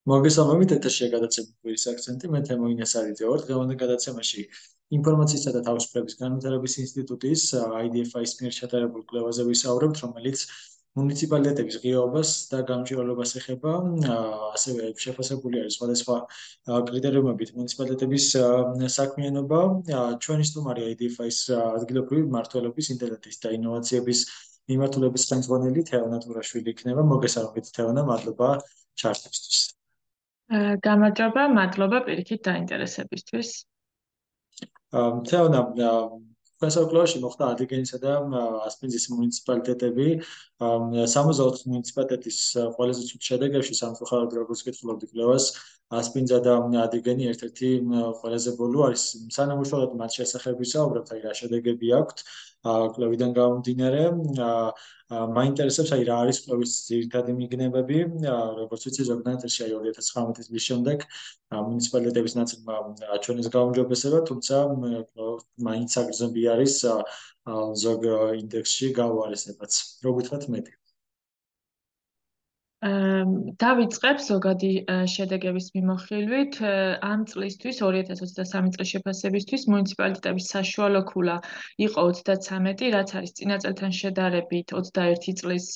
მოგესალმებით, ეთერშია გადაცემის აქცენტი, მე თემოინას არიძე ვარ. დღევანდელ გადაცემაში ინფორმაციისა და თავისუფლების განვითარების ინსტიტუტის IDFI-ის მიერ ჩატარებულ კვლევაზე ვისაუბრებთ, რომელიც მუნიციპალიტეტების ღიაობას და გამჭვირვალობას ეხება, ასევე შეფასებული არის სხვადასხვა კრიტერიუმებით მუნიციპალიტეტების საქმიანობა. ჩვენი სტუმარი IDFI-ის ადგილობრივი მმართველობის, ინტელექტის და ინოვაციების მიმართულების ხელმძღვანელი თეონა ტურაშვილი იქნება. მოგესალმებით, თეონა, მადლობა ჩართვისთვის. გამარჯობა, მადლობა პირიქით დაინტერესებისთვის. თეონა, ფესაკვლავში მოხდა ადიგენისა და ასპინძის მუნიციპალიტეტები. 64 მუნიციპალიტეტის ყველაზე ცუდ შედეგებში სამწუხაროდ როგორც კითხულობდი კვლევას, ასპინძა და ადიგენი ერთ-ერთი ყველაზე ბოლო არის. სანამ უშუალოდ მათ შესახებ ვისაუბრებთ, აი რა შედეგები აქვთ კვლევიდან გამომდინარე, მაინტერესებს აი რა არის კვლევის ძირითადი მიგნებები, როგორც ვიცი ზოგადად აი 2019 წლის შემდეგ მუნიციპალიტეტების ნაწილმა აჩვენეს გაუმჯობესება, თუმცა მაინც აგრძნობი არის ზოგ ინდექსში გაუარესებაც. რო გითხრათ მეტი. დავიწყებ ზოგადი შედეგების მიმოხილვით. ამ წლისთვის 2023 წლის შეფასებისთვის მუნიციპალიტეტების საშუალო ქულა იყო 33, რაც არის წინა წელთან შედარებით 21 წლის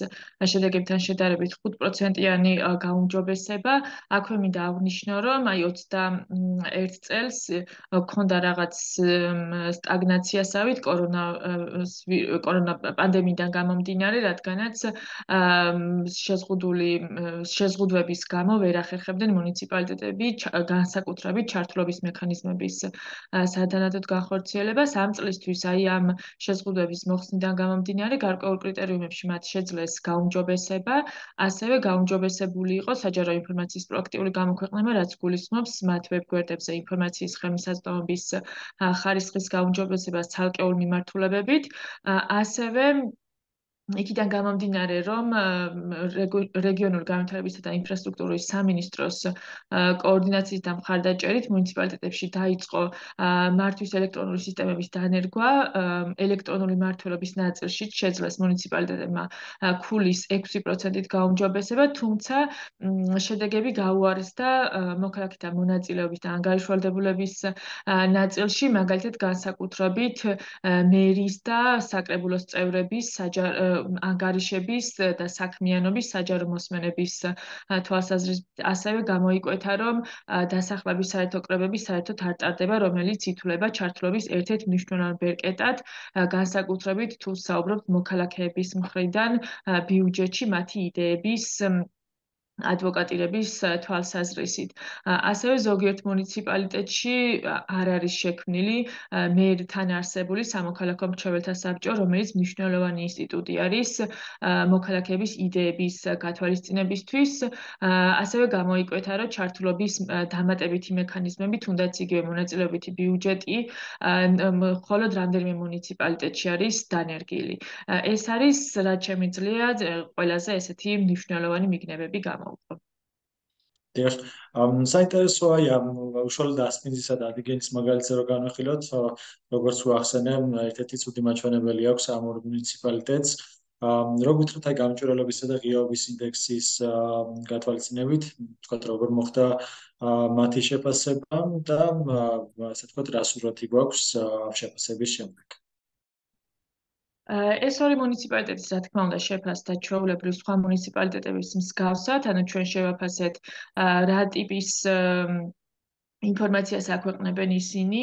შედეგებთან შედარებით 5%-იანი გაუმჯობესება. აქვე მინდა აღნიშნო, რომ აი 21 წელს ჰქონდა რაღაც სტაგნაციასავით კორონა პანდემიიდან გამომდინარე, რადგანაც შეზღუდვების გამო ვერ ახერხებდნენ მუნიციპალიტეტები განსაკუთრებით ჩართულობის მექანიზმების სადანადოდ განხორციელებას. ამ წლისთვის აი ამ შეზღუდვების მოხსნიდან გამომდინარე გარკვეულ კრიტერიუმებში მათ შეძლეს გაუმჯობესება, ასევე გაუმჯობესებული იყო საჯარო ინფორმაციის პროაქტიული გამოქვეყნება, რაც გულისხმობს მათ ვებგვერდებზე ინფორმაციის ხელმისაწვდომობის ხარისხის გაუმჯობესებას ცალკეულ მიმართულებებით, ასევე იქიდან გამომდინარე, რომ რეგიონული განვითარებისა და ინფრასტრუქტურის სამინისტროს კოორდინაციის და მხარდაჭერით მუნიციპალიტეტებში დაიწყო მართვის ელექტრონული სისტემების დანერგვა, ელექტრონული მმართველობის ნაწილში შეძლეს მუნიციპალიტეტებმა ქულის 6%-ით გაუმჯობესება, თუმცა შედეგები გაუარესდა მოქალაქეთა მონაწილეობის და ანგარიშვალდებულების ნაწილში, მაგალითად განსაკუთრებით მერის და საკრებულოს წევრების ანგარიშების და საქმიანობის საჯარო მოსმენების თვალსაზრისით ასევე გამოიკვეთა, რომ დასახლების საერთო კრებები საერთოდ არ ტარდება, რომელიც ითვლება ჩართულობის ერთ-ერთ მნიშვნელოვან ბერკეტად, განსაკუთრებით თუ საუბრობთ მოქალაქეების მხრიდან ბიუჯეტში მათი იდეების ადვოკატირების თვალსაზრისით. ასევე ზოგიერთ მუნიციპალიტეტში არ არის შექმნილი მერთან არსებული სამოქალაქო მრჩეველთა საბჭო, რომელიც მნიშვნელოვანი ინსტიტუტი არის მოქალაქეების იდეების გათვალისწინებისთვის. ასევე გამოიკვეთა, რომ ჩართულობის დამატებითი მექანიზმები, თუნდაც იგივე მონაწილეობითი ბიუჯეტი, მხოლოდ რამდენიმე მუნიციპალიტეტში არის დანერგილი. ეს არის, რაც შემიძლია ყველაზე ესეთი მნიშვნელოვანი მიგნებები გამოვიყო. დიახ, საინტერესოა უშუალოდ ასპინძისა და ადიგენის მაგალითზე რო განვიხილოთ, როგორც ვახსენე, ერთ-ერთი ცუდი მაჩვენებელი აქვს ამ ორ მუნიციპალიტეტს. რო გითხრათ აი გამჭვირვალობისა და ღიაობის ინდექსის გათვალისწინებით, თქვათ როგორ მოხდა მათი შეფასება და ასე ვთქვათ რა სურათი გვაქვს შეფასების შემდეგ. ეს ორი მუნიციპალიტეტის, რა თქმა უნდა, შეფასდა ჩვეულებრივ სხვა მუნიციპალიტეტების მსგავსად, ანუ ჩვენ შევაფასეთ რა ტიპის ინფორმაციას აქვეყნებენ ისინი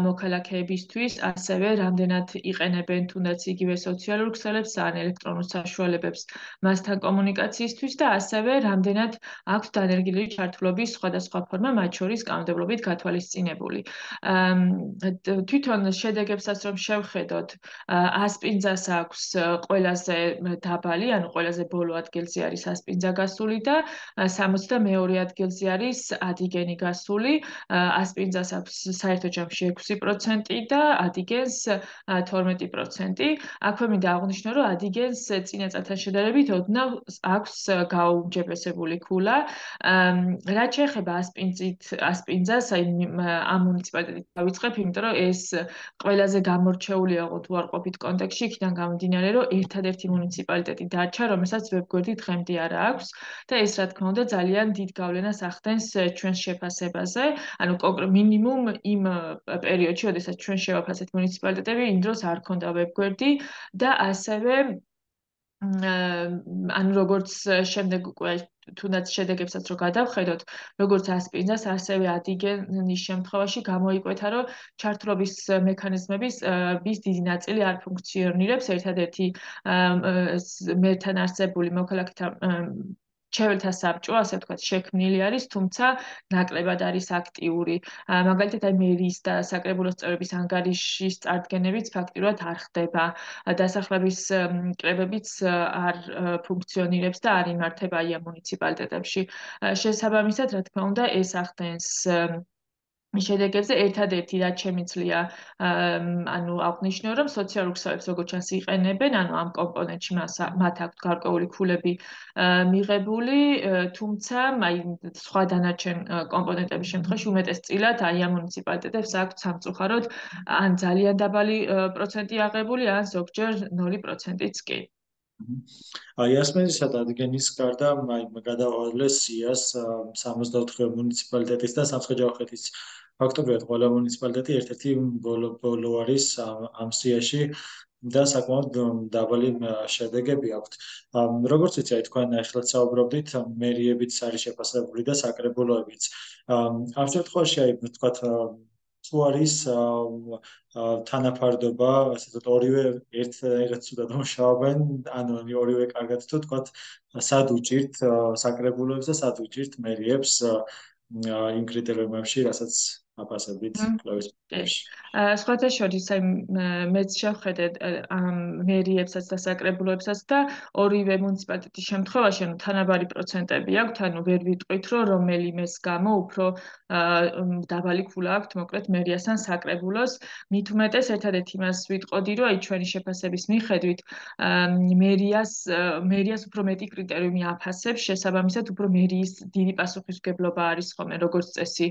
მოქალაქეებისთვის, ასევე რამდენად იყენებენ თუნდაც იგივე სოციალურ ქსელებს ან ელექტრონულ საშუალებებს მასთან კომუნიკაციისთვის და ასევე რამდენად აქვს დანერგილი ჩართულობის სხვადასხვა ფორმა, მათ შორის კანონმდებლობით გათვალისწინებული. თვითონ შედეგებსაც რომ შევხედოთ, ასპინძას აქვს ყველაზე დაბალი, ანუ ყველაზე ბოლო ადგილზე არის ასპინძა გასული და 62 ადგილზე არის ადიგენი გასული. ასპინძას აქვს საერთო ჯამში 6% და ადიგენს 12%. აქვე მინდა აღვნიშნო, რომ ადიგენს წინა წელთან შედარებით ოდნავ აქვს გაუმჯობესებული ქულა. რაც შეეხება ასპინძას, აი ამ მუნიციპალიტეტით დავიწყებ, იმიტომ რომ ეს ყველაზე გამორჩეულია თუ არ ყოფით კონტექსტში, იქიდან გამომდინარე, რომ ერთადერთი მუნიციპალიტეტი დარჩა, რომელსაც ვებგვერდი დღემდე არ აქვს და ეს რა თქმა უნდა ძალიან დიდ გავლენას ახდენს ჩვენს შეფასებაზე. ანუ მინიმუმ იმ პერიოდში, როდესაც ჩვენ შევაფასეთ მუნიციპალიტეტები, იმ დროს არ ქონდა ვებგვერდი და ასევე ანუ როგორც შემდეგ უკვე თუნდაც შედეგებსაც რო გადავხედოთ, როგორც ასპინძას, ასევე ადიგენის შემთხვევაში გამოიკვეთა, რომ ჩართულობის მექანიზმების დიდი ნაწილი არ ფუნქციონირებს. ერთადერთი მერთან არსებული მოქალაქეთა მრჩეველთა საბჭო, ასე ვთქვათ, შექმნილი არის, თუმცა ნაკლებად არის აქტიური. მაგალითად, აი მერიის და საკრებულოს წევრების ანგარიშის წარდგენებიც ფაქტიურად არ ხდება. დასახლების კრებებიც არ ფუნქციონირებს და არ იმართება აი ამ მუნიციპალიტეტებში. შესაბამისად, რა თქმა უნდა, ეს ახდენს შედეგებზე ერთადერთი რაც შემიძლია ანუ აღვნიშნო, რომ სოციალურ ქსელებს როგორც ჩანს იყენებენ, ანუ ამ კომპონენტში მათ აქვთ გარკვეული ქულები მიღებული, თუმცა აი სხვა დანარჩენ კომპონენტების შემთხვევაში უმეტესწილად აი ამ მუნიციპალიტეტებს აქვთ სამწუხაროდ ან ძალიან დაბალი პროცენტი აღებული, ან ზოგჯერ 0%-იც კი. აი ასპინძისა და ადიგენის გარდა აი გადავალეს სიას 64 მუნიციპალიტეტის და სამცხე-ჯავახეთის ფაქტობრივად ყველა მუნიციპალიტეტი ერთ-ერთი ბოლო არის ამ სიაში და საკმაოდ დაბალი შედეგები აქვთ. როგორც ვიცი, აი თქვენ ახლა საუბრობდით, მერიებიც არის შეფასებული და საკრებულოებიც. ამ შემთხვევაში აი ვთქვათ თუ არის თანაფარდობა, ასე ვთქვათ, ორივე ერთ ცუდად მუშაობენ, ანუ ორივე კარგად თუ თქვათ, სად უჭირთ საკრებულოებს და სად უჭირთ მერიებს იმ კრიტერიუმებში, რასაც აფასებით კვლევის პროცესში. სხვათა შორის, აი მეც შევხედე ამ მერიებსაც და საკრებულოებსაც და ორივე მუნიციპალიტეტის შემთხვევაში, ანუ თანაბარი პროცენტები აქვთ, ანუ ვერ ვიტყვით, რომ რომელიმეს გამო უფრო დაბალი ქულა აქვთ, მოკლედ მერიასთან საკრებულოს. მით უმეტეს ერთადერთი იმას ვიტყოდი, რომ აი ჩვენი შეფასების მიხედვით მერიას უფრო მეტი კრიტერიუმი აფასებს, შესაბამისად უფრო მერიის დიდი პასუხისმგებლობა არის ხოლმე როგორც წესი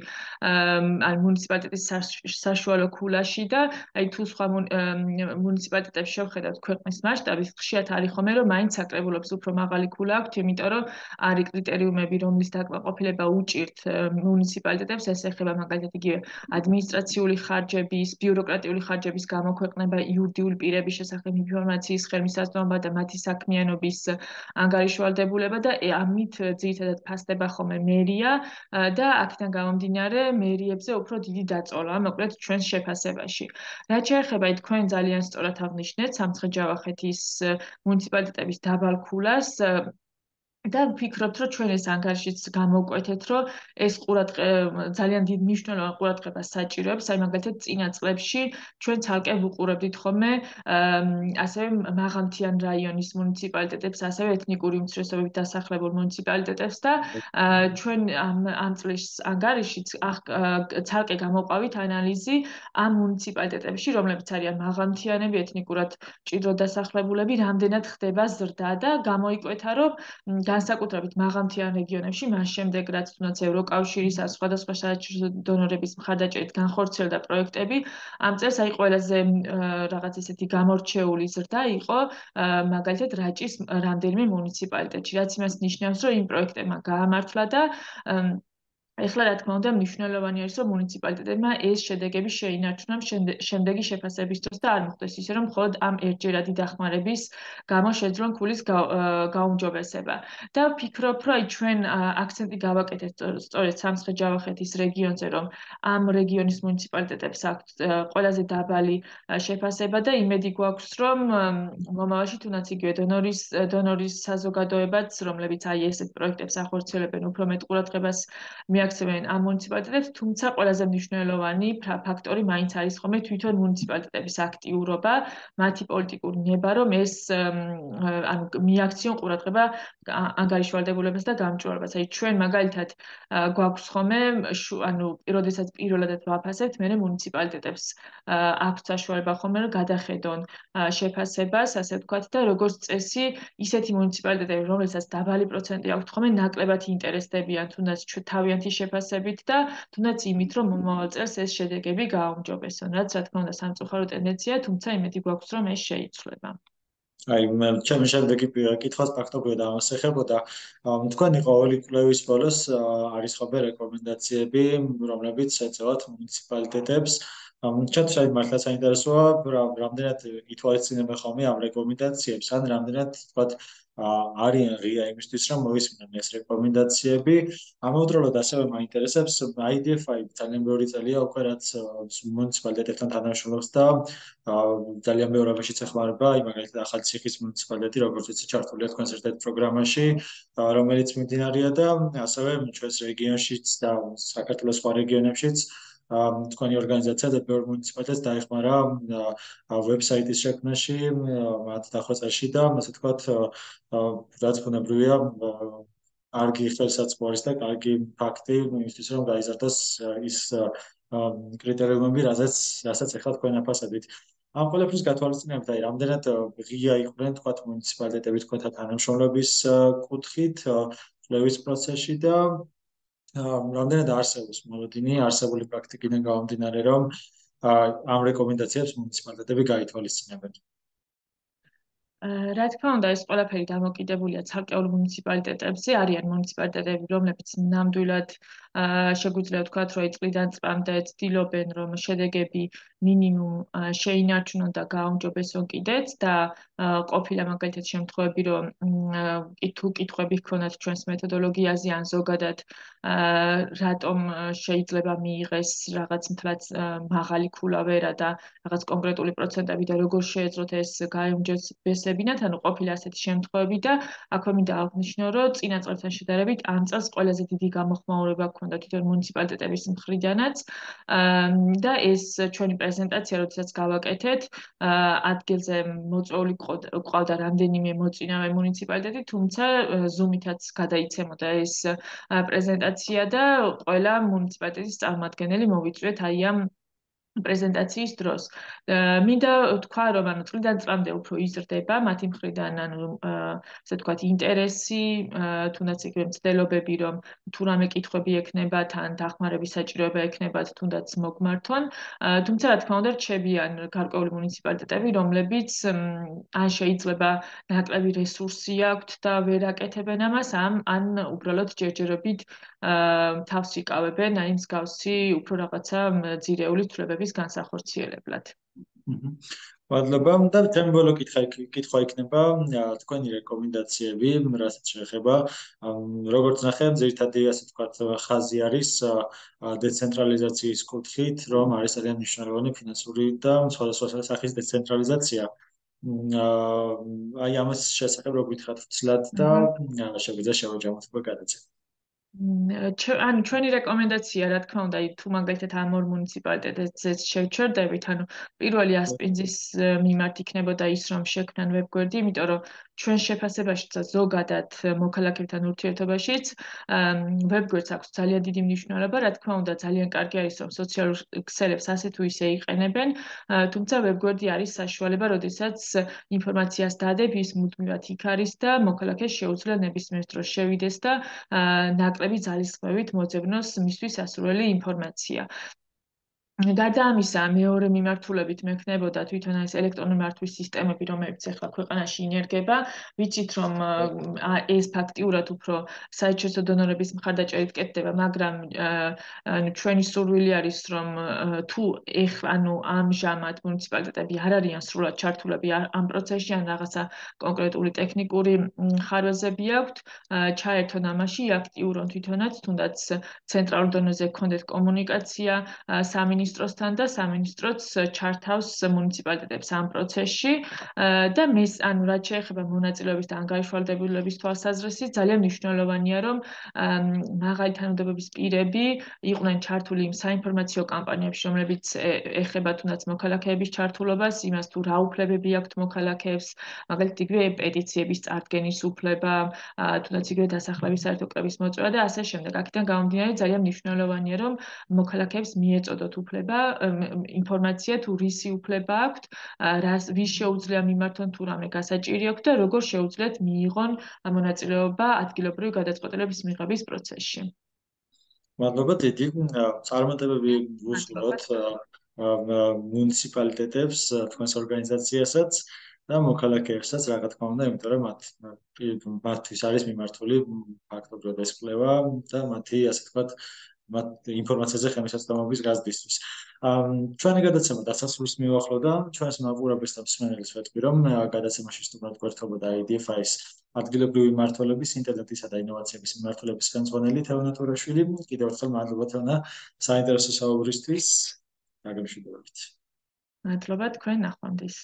ან მუნიციპალიტეტის საშუალო ქულაში და აი თუ სხვა მუნიციპალიტეტებს შევხედავთ ქვეყნის მასშტაბით, ხშირად არის ხოლმე რომ მაინც საკრებულოებს უფრო მაღალი ქულა აქვთ, იმიტომ რომ არის კრიტერიუმები, რომლის დაკმაყოფილება უჭირთ მუნიციპალიტეტებს, ეს ეხება მაგალითად იგივე ადმინისტრაციული ხარჯების, ბიუროკრატიული ხარჯების გამოქვეყნება, იურიდიული პირების შესახებ ინფორმაციის ხელმისაწვდომობა და მათი საქმიანობის ანგარიშვალდებულება და ამით ძირითადად ფასდება ხოლმე მერია და აქედან გამომდინარე მერიებზე უფრო დიდი დაწოლა, მოკლედ ჩვენს შეფასებაში. რაც შეეხება თქვენ ძალიან სწორად აღნიშნეთ სამცხე-ჯავახეთის მუნიციპალიტეტების დაბალ ქულას და ვფიქრობთ, რომ ჩვენ ეს ანგარიშიც გამოვკვეთეთ, რომ ეს ძალიან დიდ მნიშვნელოვან ყურადღებას საჭიროებს, აი მაგალითად წინა წლებში ჩვენ ცალკე ვუყურებდით ხოლმე ასევე მაღალმთიან რაიონის მუნიციპალიტეტებს, ასევე ეთნიკური უმცირესობებით დასახლებულ მუნიციპალიტეტებს და ჩვენ ამ წლის ანგარიშიც ცალკე გამოვყავით ანალიზი ამ მუნიციპალიტეტებში, რომლებიც არიან მაღალმთიანები, ეთნიკურად მჭიდროდ დასახლებულები, რამდენად ხდება ზრდა და გამოიკვეთა, რომ განსაკუთრებით მაღალმთიან რეგიონებში, მას შემდეგ რაც თუნდაც ევროკავშირის ან სხვადასხვა საერთაშორისო დონორების მხარდაჭერით განხორციელდა პროექტები, ამ წელს აი ყველაზე რაღაც ესეთი გამორჩეული ზრდა იყო მაგალითად რაჭის რამდენიმე მუნიციპალიტეტში, რაც იმას ნიშნავს, რომ იმ პროექტებმა გაამართლა და ეხლა რა თქმა უნდა მნიშვნელოვანი არის, რომ მუნიციპალიტეტებმა ეს შედეგები შეინარჩუნონ შემდეგი შეფასების დროს და არ მოხდეს ისე, რომ მხოლოდ ამ ერთჯერადი დახმარების გამო შეძლონ ქულის გაუმჯობესება. და ვფიქრობ, რომ აი ჩვენ აქცენტი გავაკეთეთ სწორედ სამცხე-ჯავახეთის რეგიონზე, რომ ამ რეგიონის მუნიციპალიტეტებს აქვთ ყველაზე დაბალი შეფასება და იმედი გვაქვს, რომ მომავალში თუნდაც იგივე დონორის საზოგადოებაც, რომლებიც აი ესეთ პროექტებს ახორციელებენ, უფრო მეტ ყურადღებას მიაქცევენ ამ მუნიციპალიტეტებს, თუმცა ყველაზე მნიშვნელოვანი ფაქტორი მაინც არის ხოლმე თვითონ მუნიციპალიტეტების აქტიურობა, მათი პოლიტიკური ნება, რომ ეს ანუ მიაქციონ ყურადღება ანგარიშვალდებულებას და გამჭვირვალებას. აი ჩვენ მაგალითად გვაქვს ხოლმე როდესაც პირველადად ვაფასებთ, მე მუნიციპალიტეტებს აქვს საშუალება ხოლმე რომ გადახედონ შეფასებას, ასე ვთქვათ და როგორც წესი, ისეთი მუნიციპალიტეტები, რომელსაც დაბალი პროცენტი აქვთ ხოლმე ნაკლებად ინტერესდებიან თუნდაც თავიანთი შეფასებით და თუნდაც იმით, რომ მომავალ წელს ეს შედეგები გააუმჯობესონ, რაც რა თქმა უნდა სამწუხარო ტენდენციაა, თუმცა იმედი გვაქვს, რომ ეს შეიცვლება. აი, ჩემი შემდეგი კითხვას ფაქტობრივად ამას ეხებოდა. თქვენი ყოველი კვლევის ბოლოს არის ხოლმე რეკომენდაციები, რომლებიც ეწევათ მუნიციპალიტეტებს. ჩემთვის აი მართლა საინტერესოა, რამდენად ითვალისწინებენ ხოლმე ამ რეკომენდაციებს, ან რამდენად თქვათ არიან ღია იმისთვის, რომ მოისმინონ ეს რეკომენდაციები. ამავდროულად ასევე მაინტერესებს IDF-i ძალიან ბევრი წელია უკვე რაც მუნიციპალიტეტებთან თანამშრომლობს და ძალიან ბევრი რამაშიც ეხმარება, აი მაგალითად ახალციხის მუნიციპალიტეტი, როგორც ვიცი, ჩართულია თქვენს ერთ-ერთ პროგრამაში, რომელიც მიმდინარეა და ასევე ჩვენს რეგიონშიც და საქართველოს სხვა რეგიონებშიც თქვენი ორგანიზაცია და ბევრი მუნიციპალიტეტს დაეხმარა ვებსაიტის შექმნაში, მათ დახვეწაში და ასე ვთქვათ, რაც ბუნებრივია, კარგი ხელსაწყო არის და კარგი ფაქტი იმისთვის, რომ გაიზარდოს ის კრიტერიუმები, რასაც ახლა თქვენ აფასებით. ამ ყველაფრის გათვალისწინებით, აი, რამდენად ღია იყვნენ, თქვათ, მუნიციპალიტეტები თქვენთან თანამშრომლობის კუთხით, კვლევის პროცესში და რამდენად არსებობს მოლოდინი, არსებული პრაქტიკიდან გამომდინარე, რომ ამ რეკომენდაციებს მუნიციპალიტეტები გაითვალისწინებენ. რა თქმა უნდა, ეს ყველაფერი დამოკიდებულია ცალკეულ მუნიციპალიტეტებზე. არიან მუნიციპალიტეტები, რომლებიც ნამდვილად შეგვიძლია ვთქვათ, რომ წლიდან წლამდე ცდილობენ, რომ შედეგები მინიმუმ შეინარჩუნონ და გააუმჯობესონ კიდეც და ყოფილა მაგალითად შემთხვევები, რომ თუ კითხვები ჰქონათ ჩვენს მეთოდოლოგიაზე ან ზოგადად რატომ შეიძლება მიიღეს რაღაც მთლად მაღალი ქულავერა და რაღაც კონკრეტული პროცენტები და როგორ შეეძლოთ ეს გააუმჯობესებინათ, ანუ ყოფილა ასეთი შემთხვევები და აქვე მინდა აღნიშნო, რომ წინა წელთან შედარებით ამ წელს ყველაზე დიდი გამოხმაურება ჰქონდა თვითონ მუნიციპალიტეტების მხრიდანაც და ეს ჩვენი პრეზენტაცია, როდესაც გავაკეთეთ, ადგილზე მოწვეული ყავდა რამდენიმე მოწინავე მუნიციპალიტეტი, თუმცა ზუმითაც გადაიცემოდა ეს პრეზენტაცია და ყველა მუნიციპალიტეტის წარმომადგენელი მოვიწვიეთ აი ამ პრეზენტაციის დროს. მინდა ვთქვა, რომ ანუ წლიდან წლამდე უფრო იზრდება მათი მხრიდან, ანუ ასე ვთქვათ, ინტერესი, თუნდაც იგივე მცდელობები, რომ თუ რამე კითხვები ექნებათ, ან დახმარების საჭიროება ექნებათ, თუნდაც მოგმართონ. თუმცა, რა თქმა უნდა, რჩებიან გარკვეული მუნიციპალიტეტები, რომლებიც ან შეიძლება ნაკლები რესურსი აქვთ და ვერ აკეთებენ ამას, ან უბრალოდ ჯერჯერობით თავს იკავებენ, აი მსგავსი უფრო რაღაცა ძირეული ცვლილებების განსახორციელებლად. მადლობა და ჩემი ბოლო კითხვა იქნება თქვენი რეკომენდაციები, რასაც შეეხება, როგორც ნახე, ძირითადი ასე ვთქვათ, ხაზი არის დეცენტრალიზაციის კუთხით, რომ არის ძალიან მნიშვნელოვანი ფინანსური და სხვადასხვა სახის დეცენტრალიზაცია. აი ამას შესახებ რო გითხრათ ვცლად და შეგვიძლია შევაჯამოთ უკვე გადაცემა. ანუ ჩვენი რეკომენდაცია, რა თქმა უნდა, თუ მაგალითად ამ ორ მუნიციპალიტეტზე შევჩერდებით, ანუ პირველი ასპინძის მიმართ იქნებოდა ის, რომ შექმნან ვებგვერდი, იმიტომ რომ ჩვენ შეფასებაშიც და ზოგადად მოქალაქეებთან ურთიერთობაშიც ვებგვერდს აქვს ძალიან დიდი მნიშვნელობა, რა თქმა უნდა, ძალიან კარგი არის, რომ სოციალურ ქსელებს ასე თუ ისე იყენებენ, თუმცა ვებგვერდი არის საშუალება, როდესაც ინფორმაციას დადებ, ის მუდმივად იქ არის და მოქალაქეს შეუძლია ნებისმიერ დროს შევიდეს და ნაკლები ძალისხმევით მოძებნოს მისთვის ასურველი ინფორმაცია. გარდა ამისა, მეორე მიმართულებით მექნებოდა თვითონ ეს ელექტრონული მართვის სისტემები, რომლებიც ახლა ქვეყანაში ინერგება. ვიცით, რომ ეს ფაქტიურად უფრო საერთაშორისო დონორების მხარდაჭერით კეთდება, მაგრამ ჩვენი სურვილი არის, რომ თუ ამჟამად მუნიციპალიტეტები არ არიან სრულად ჩართულები ამ პროცესში, ან რაღაცა კონკრეტული ტექნიკური ხარვეზები აქვთ, ჩაერთონ ამაში, აქტიურონ თვითონაც, თუნდაც ცენტრალურ დონეზე გქონდეთ კომუნიკაცია, სამინისტროს სამინისტროსთან და სამინისტროც ჩართავს მუნიციპალიტეტებს ამ პროცესში და რაც შეეხება მონაწილეობის და ანგარიშვალდებულების თვალსაზრისით ძალიან მნიშვნელოვანია რომ მაღალი თანამდებობის პირები იყვნენ ჩართული იმ საინფორმაციო კამპანიებში რომლებიც ეხება თუნდაც მოქალაქეების ჩართულობას იმას თუ რა უფლებები აქვთ მოქალაქეებს მაგალითად იგივე პეტიციების წარდგენის უფლება თუნდაც იგივე დასახლების საერთო კრების მოწვევა და ასე შემდეგ აქედან გამომდინარე ძალიან მნიშვნელოვანია რომ მოქალაქეებს მიეწოდოთ უფლება ინფორმაცია თუ რისი უფლება აქვთ ვის შეუძლია მიმართონ თუ რამე გასაჭირი აქვთ და როგორ შეუძლიათ მიიღონ მონაწილეობა ადგილობრივი გადაწყვეტილების მიღების პროცესში. მადლობა დიდი. წარმატებები ვუსურვოთ მუნიციპალიტეტებს, თქვენს ორგანიზაციასაც და მოქალაქეებსაც, რა თქმა უნდა, იმიტომ რომ მათთვის არის მიმართული ფაქტობრივად ეს კვლევა და მათი, ასე ვთქვათ, ინფორმაციაზე ხელმისაწვდომობის გაზრდისთვის. ჩვენი გადაცემა დასასრულს მივახლოვდა. ჩვენს მაყურებელს და მსმენელს ვეთქვი, რომ გადაცემაში სტუმრად გვერდებოდა IDFI-ის ადგილობრივი მმართველობის, ინტერნეტისა და ინოვაციების მმართველობის ხელმძღვანელი თეონა თურაშვილი. კიდევ ერთხელ მადლობა თეონა საინტერესო საუბრისთვის. გაგემშვიდობებით. მადლობა თქვენ ნახვამდის.